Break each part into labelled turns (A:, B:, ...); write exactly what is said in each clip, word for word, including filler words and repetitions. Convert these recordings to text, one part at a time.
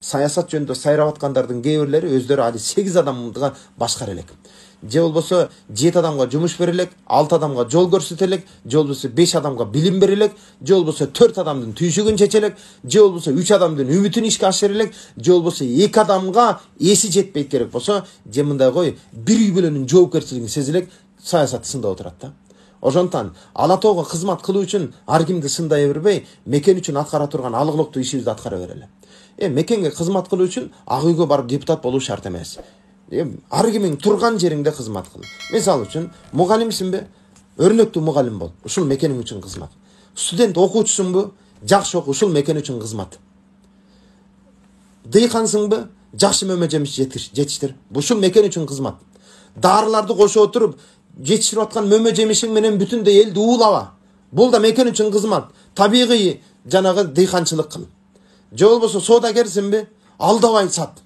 A: саясат жөнүндө сайрап аткандардын кээ бирлери өздөрү али сегиз адамга башкара элек. Же болбосо жети адамга жумуш берилек, алты адамга жол көрсөтөлек, же болбосо беш адамга билим берилек, же болбосо төрт адамдын түйшүгүн чечелек, же болбосо үч адамдын үмүтүн ишке ашырылек, же болбосо эки адамга эси жетпейт керек болсо, же мындай кой, бир үй бүлөнүн жоопкерчилигин сезилек, саясатты сындап отурат да. Ошондон ала тоого кызмат кылуу үчүн ар кимди сындай бербей, мекен үчүн аткара турган алыктуу ишибизди аткара берели. Э мекенге кызмат кылуу үчүн ак үйгө барып депутат болуу шарт эмес. Ар кимиң турган жериңде кызмат кыл. Мисалы үчүн, мугалимсиңби? Өрнөктүү мугалим бол. Ушул мекениң үчүн кызмат. Студент окуучусуңбу? Жакшы окуу, ушул мекен үчүн кызмат. Дыйкансыңбы? Жакшы мөмө жемиш жетиштир. Ушул мекен үчүн кызмат. Дарыларды кошо отуруп, жетиширип аткан мөмө жемишиң менен бүтүндөй элди уулаба. Бул да мекен үчүн кызмат. Табигый жанагы дыйканчылык кыл. Же болбосо соодагерсиңби? Алдабай сат.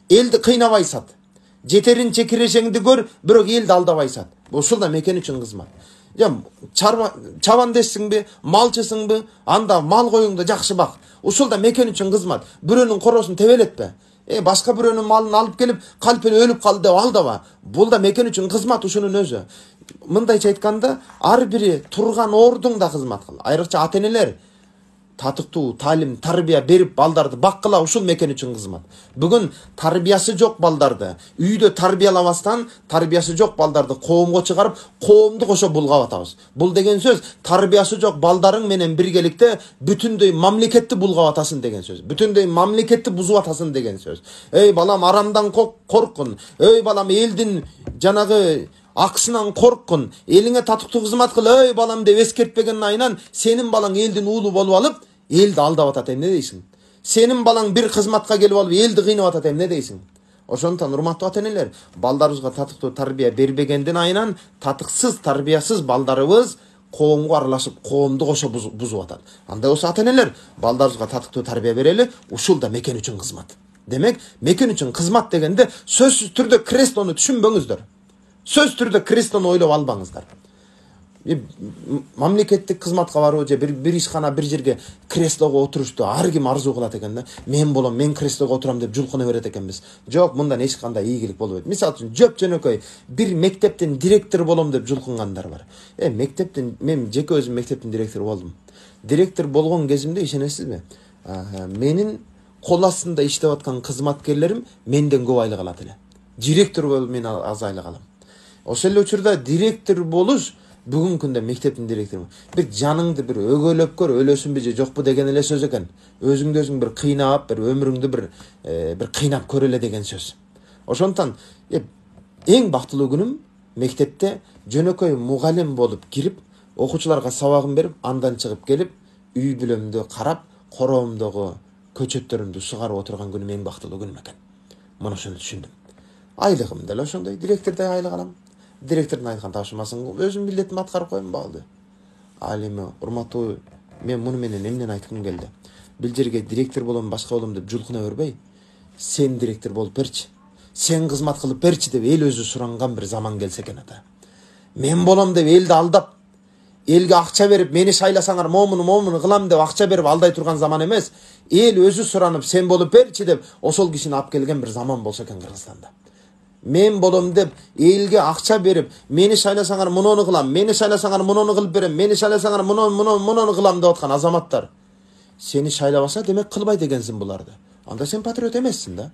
A: Элди кыйнабай сат. Жетеринче кирешеңди көр, бирок элди алдабай сат. Ушул да мекен үчүн кызмат. Жам чабандешсиңби, малчысыңбы? Анда мал коюңду жакшы бак. Ушул да мекен үчүн кызмат. Бирөөнүн коросун тебелетпе. Э башка бирөөнүн малын алып келип, калп эле өлүп калды деп алдаба. Бул да мекен үчүн кызмат ушунун өзү. Мындайча айтканда, ар бири турган ордуңда кызмат кыл. Айрыкча ата-энелер татыктуу таалим, тарбия берип балдарды баккыла, ушул мекен үчүн кызмат. Бүгүн тарбиясы жок балдарды үйдө тарбиялабастан, тарбиясы жок балдарды коомго чыгарып, коомду кошо булгап атабыз. Бул деген сөз тарбиясы жок балдарың менен биргеликте бүтүндөй мамлекетти булгап атасың деген сөз. Бүтүндөй мамлекетти бузуп атасың деген сөз. Эй балам, арамдан корккун. Эй балам, элдин жанагы акысынан корккун, элиңе татыктуу кызмат кыл, эй балам деп эскертпеген айынан сенин балаң элдин уулу болуп алып, элди алдап атат, эмне дейсиң? Сенин балаң бир кызматка келип алып, элди кыйнап атат, эмне дейсиң? Ошондон урматтуу ата-энелер, балдарыбызга татыктуу тарбия бербегендин айынан татыксыз, тарбиясыз балдарыбыз коомго аралашып, коомду кошо бузуп атат. Андай болсо ата-энелер, балдарыбызга татыктуу тарбия берели, ушул да мекен үчүн кызмат. Демек, мекен үчүн кызмат дегенде сөзсүз түрдө крестону түшүнбөңүздөр. Сөз түрдө крестону ойлоп албаңыздар. Мамлекеттик кызматка баруу же бир бир ишкана бир жерге креслого отурушту ар ким арзуу кылат экен да. Мен болом, мен креслого отурам деп жулкуна берет экенбиз. Жок, мындан эч кандай ийгилик болбойт. Мисалы үчүн, жөп жөнөкөй бир мектептин директор болом деп жулкунгандар бар. Э, мектептин, мен жеке өзүм мектептин директору болдум. Директор болгон кезимде ишенесизби? Менин кол астында иштеп аткан кызматкерлерим менден көп айлык алат эле. Директор болуп мен аз айлык алам. Ошол эле учурда директор болуш бүгүнкү күндө мектептин директору бир жаныңды бир өгөлөп көр, өлөсүнбү же жокпу деген эле сөз экен. Өзүңдү өзүң бир кыйнап, бир өмүрүңдү бир бир кыйнап көр эле деген сөз. Ошондон эң бактылуу күнүм мектепте жөнөкөй мугалим болуп кирип, окуучуларга сабагын берип, андан чыгып келип, үй бүлөмдү карап, короомдогу көчөттөрүмдү сугарып отурган күнүм эң бактылуу күнүм экен. Мына ошону түшүндүм. Айлыгым деле ошондой, директордой айлык алам. Директордун айткан тапшырмасын өзүм милдетимди аткарып коем, болду. Ал эми урматтуу, мен муну менен эмнени айткым келди? Бул жерге директор болом, башка болом деп жулкуна бербей, сен директор болуп берчи, сен кызмат кылып берчи деп эл өзү суранган бир заман келсе экен ата. Мен болом деп элди алдап, элге акча берип, мени шайласаңар момуну момуну кылам деп акча берип алдай турган заман эмес, эл өзү суранып, сен болуп берчи деп ошол кишини алып келген бир заман болсо экен Кыргызстанда. Мен болом деп элге акча берип, мени шайласаңар муну кылам, мени шайласаңар муну кылып берем, мени шайласаңар муну муну муну кылам деп аткан азаматтар сени шайлабаса, демек кылбайт экенсиң буларды. Анда сен патриот эмессиң да.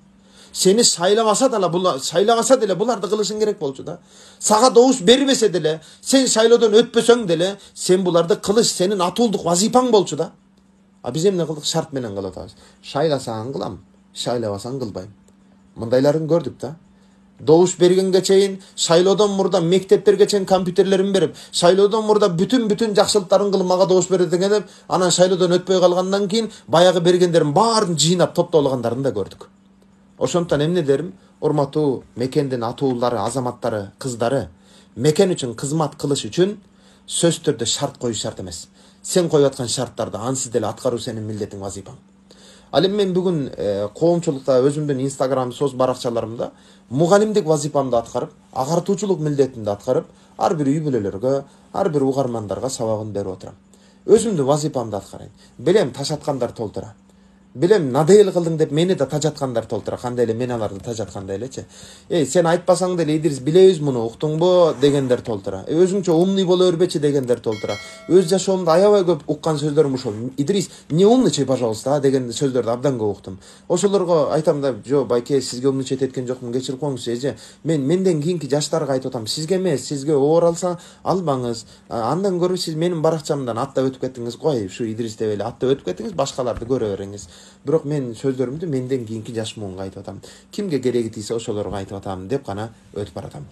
A: Сени шайлабаса деле, булар шайлабаса деле буларды кылышың керек болчу да. Сага добуш бербесе деле, сен шайлоодон өтпөсөң деле, сен буларды кылыш сенин атуулдук вазифаң болчу да. А биз эмне кылдык? Шарт менен кылып атабыз. Шайласаң кылам, шайлабасаң кылбайм. Мындайларын көрдүк да. Добуш бергенге чейин, шайлоодон мурда мектептерге чейин компьютерлерин берип, шайлоодон мурда бүтүн-бүтүн жакшылыктарын кылып мага добуш берет экен деп, анан шайлоодон өтпөй калгандан кийин баягы бергендерин баарын жыйнап топтолгондорун да көрдүк. Ошондон эмне дерим? Урматтуу мекендин атуулары, азаматтары, кыздары, мекен үчүн кызмат кылыш үчүн сөз түрдө шарт коюш шарт эмес. Сен коюп аткан шарттарды ансыз деле аткаруу сенин милдетиң, вазифаң. Ал эми мен бүгүн коомчулукта өзүмдүн Instagram соц баракчаларымда мугалимдик вазифамды аткарып, агартуучулук милдетимди аткарып, ар бир үй бүлөлөргө, ар бир угармандарга сабагын берип отурам. Өзүмдүн вазифамды аткарайын. Билем, таш аткандар толтура. Билем, надоел кылдың деп мени да тажаткандар толтура. Кандай эле мен аларды тажаткандай элечи. Эй, сен айтпасаң деле Идрис билебиз муну, уктуңбу дегендер толтура. Э, өзүңчө умный боло бербечи дегендер толтура. Өз жашоомдо аябай көп уккан сөздөрүм ушул. Идрис, не умничай, пожалуйста, деген сөздөрдү абдан көп уктум. Ошолорго айтам да, жо, байке, сизге умничать эткен жокмун, кечирип коюңуз, эже. Мен менден кийинки жаштарга айтып атам, сизге эмес, сизге оор алса албаңыз. Андан көрө сиз менин баракчамдан аттап өтүп кеттиңиз, кой, ушу Идрис деп эле аттап өтүп кеттиңиз, башкаларды көрө бериңиз. Бирок мен сөздөрүмдү менден кийинки жаш муунга айтып атам. Кимге кереги тийсе ошолорго айтып атам деп гана өтүп баратам.